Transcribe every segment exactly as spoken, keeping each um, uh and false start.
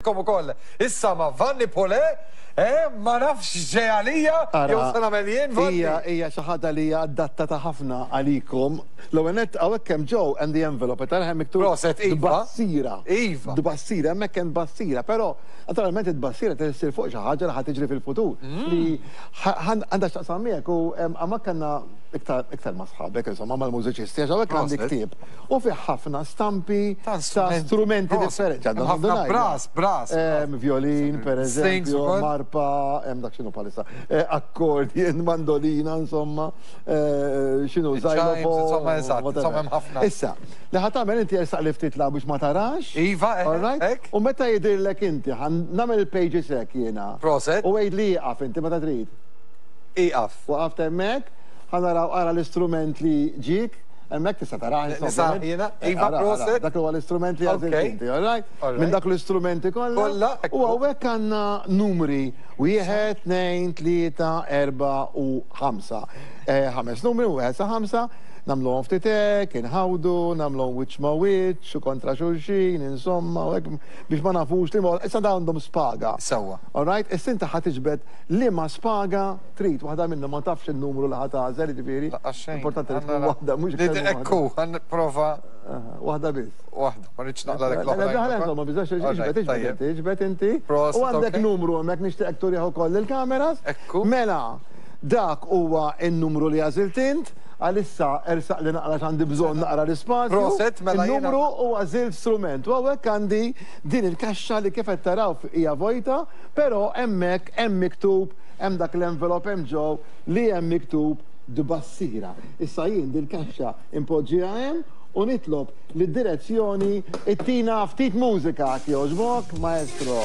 Kom ukoll. Issa ma' Vanni Pole, eh, ma nafx ġej għalija, jew se nagħmel jien Vanni. Hija hija xi ħaġa li hija adattata ħafna għalikom. L-ewwel nett hawnhekk hemm ġew and the envelope tara hemm miktub. Proset, iva. Tbassira. Iva. Tbassira, hemmhekk hemm tbassira, però naturalment it-tbassira trid issir fuq xi ħaġa li ħa tiġri fil-futur. Li għandha x'taqsam miegħek u hemmhekk għandna iktar iktar ma' sħabek, insomma, mal-mużiċisti, għax hawnhekk għandi ktieb u fih ħafna stampi ta' strumenti differenti. Ħafna brass, brass. Violin, per eżempju, marpa, hemm dak x'inhu bħalissa, accordion, mandolina, insomma, x'inhu xylophone. Insomma, eżatt, insomma hemm ħafna. Issa, li ħa tagħmel inti ersaq li ftit la biex ma tarax. Iva, hekk. U meta jidhirlek inti, ħa nagħmel il-pages hekk jiena. Proset. U għid li ieqaf inti meta trid. Ieqaf. Waqaft hemmhekk. Ħa naraw ara l-istrument li ġiek, hemmhekk tista' taraħ insomma. Iva, proset. Dak huwa l-istrument li għażilt inti, all right? Minn dak l-istrumenti kollha. U hawnhekk għandna numri wieħed, tnejn, tlieta, erba' u ħamsa. Ħames numri, wieħed sa ħamsa, nagħmluhom ftit hekk, inħawdu, nagħmluhom wiċċ ma' wiċċ u kontra xulxin, insomma, u hekk biex ma nafux li issa dawn għandhom spaga. Sewwa. All right, issa inti ħa tiġbed liema spaga trid, waħda minnhom ma tafx in-numru li ħa tagħżel, jiġifieri. Importanti li tkun waħda mhux iktar. Ekku, ħa nipprova. Waħda biss. Waħda, ma rridx naqla dik l-oħra. Insomma, biżax iġbed, iġbed inti, iġbed inti. U għandek numru hemmhekk nixtieqek turih ukoll il-kameras. Ekku. Mela, dak huwa n-numru li għażilt int. Għalissa ersaq li naqra għandi bżonn naqra l-ispazju. Proset, mela jiena. Il-numru huwa għażilt strument. U hawnhekk għandi din il-kaxxa li kif qed taraw hija vojta, però hemmhekk hemm miktub, hemm dak l-envelop hemm ġew li hemm miktub tbassira. Issa jien din il-kaxxa impoġġiha hemm u nitlob li d-direzzjoni ittina ftit mużika jogħġbok, maestro.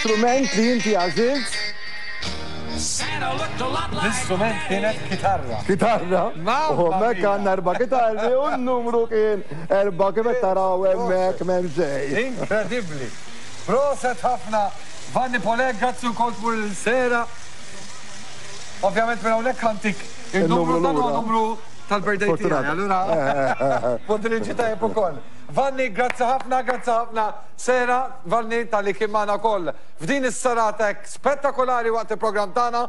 L-istrument li inti għażilt? L-istrument kienet kitarra. Kitarra? U hemmhekk għandna erba' kitarri u n-numru kien erba' kif qed taraw hemmhekk m'hemm xejn. Inkredibbli. Proset ħafna. Vanni Pole, grazzi wkoll tmur il-sera. Ovvjament minn hawnhekk għantik il-numru dan huwa numru tal-birthday tiegħi, allura punt li ġi tajjeb ukoll. Vanni, grazzi ħafna, grazzi ħafna. Sera, Vanni, tal-li kien magħna wkoll f'din is-serata spettakolari waqt il-programm tagħna.